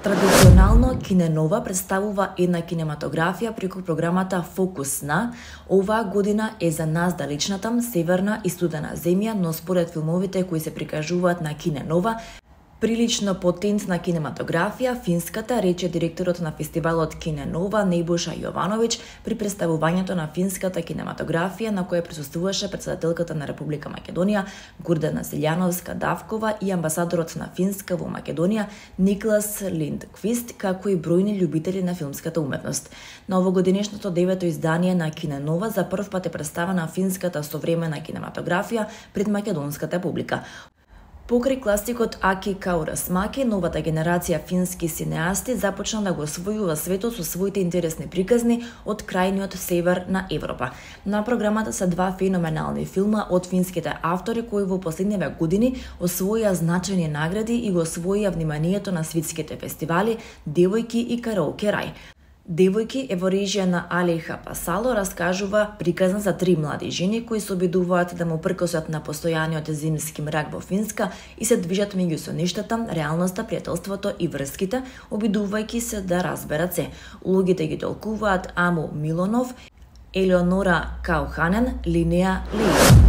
Традиционално Киненова представува една кинематографија преку програмата Фокус на. Оваа година е за нас далечната, северна и студена земја, но според филмовите кои се прикажуваат на Киненова, прилично потентна кинематографија, финската, рече директорот на фестивалот Киненова Небоша Јовановиќ при представувањето на финската кинематографија на која присуствуваше претседателката на Република Македонија Гордана Селјановска-Давкова и амбасадорот на Финска во Македонија Никлас Линдквист, како и бројни љубители на филмската уметност. На овогодинешното 9-то издание на Киненова за прв пат е представена финската современа кинематографија пред македонската публика. Покрај класикот Аки Каурасмаки, новата генерација фински синеасти започна да го освојува светот со своите интересни приказни од крајниот север на Европа. На програмата се два феноменални филма од финските автори кои во последниве години освоија значајни награди и го освоија вниманието на светските фестивали Девојки и Караоке рај. Девојки е во режија на Алиха Пасало, раскажува приказна за три млади жени кои се обидуваат да му пркосат на постојаниот зимски мрак во Финска и се движат меѓу соништата, реалноста, пријателството и врските, обидувајќи се да разберат се. Улогите ги толкуваат Аму Милонов, Елеонора Кауханен, Линеа Ли.